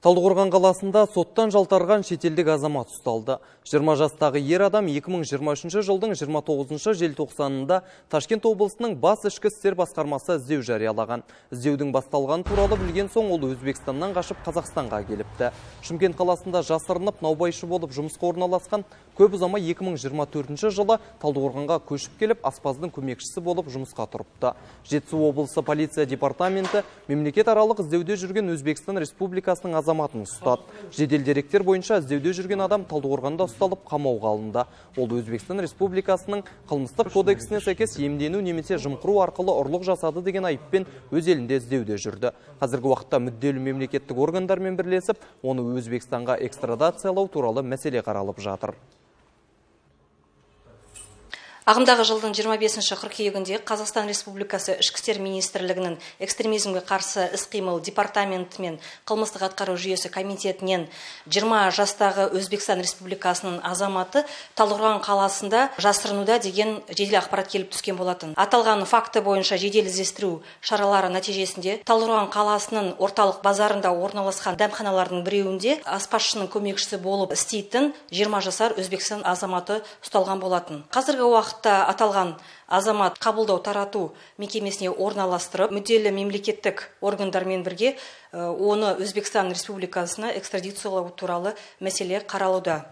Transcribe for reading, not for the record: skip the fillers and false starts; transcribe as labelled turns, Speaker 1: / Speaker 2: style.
Speaker 1: Талдықорған қаласында соттан жалтарған шетелдік азамат ұсталды. 20 жастағы ер адам 2023 жылдың 29 желтоқсанында Ташкент облысының бас ішкі істер басқармасы іздеу жариялаған. Іздеудің басталған туралы білген соң ол Өзбекстаннан қашып Қазақстанға келіпті. Шымкент қаласында жасырынып наубайшы болып жұмысқа орналасқан, көп ұзамай 2024 жылы Талдықорғанға көшіп келіп, аспаздың көмекшісі болып жұмысқа тұрыпты. Жетісу облысы полиция департаменті мемлекет аралық іздеуде жүрген Өзбекстан Республикасының азаматын ұстады. Жедел деректер бойынша іздеуде жүрген адам Талдықорғанда ұсталып қамауға алынды. Ол Өзбекстан Республикасының қылмыстық кодексіне сәйкес иемдену немесе жымқыру арқылы ұрлық жасады деген айыппен өз елінде іздеуде жүрді. Қазіргі уақытта мүдделі мемлекеттік органдармен бірлесіп, оны Өзбекстанға экстрадациялау туралы мәселе қаралып жатыр.
Speaker 2: Ағымдағы жылдың 25 қыркүйегінде Қазақстан Республикасы Ішкі істер министрлігінің экстремизмге қарсы іс-қимыл департаменті мен қылмыстық атқару жүйесі комитетінен 20 жастағы Өзбекстан Республикасының азаматы Талдықорған қаласында жасырынуда деген жедел ақпарат келіп түскен болатын. Аталған факті бойынша жедел іздестіру шаралары нәтижесінде Талдықорған қаласының орталық базарында орналасқан дәмханалардың біреуінде аспазшының көмекшісі болып істейтін 20 жасар Өзбекстан азаматы ұсталған болатын. Қазіргі уақытта аталған азамат қабылдау тарату мекемесіне орналастырып, мүдделі мемлекеттік органдармен бірге оны Өзбекстан Республикасына экстрадициялау туралы мәселе қаралуда.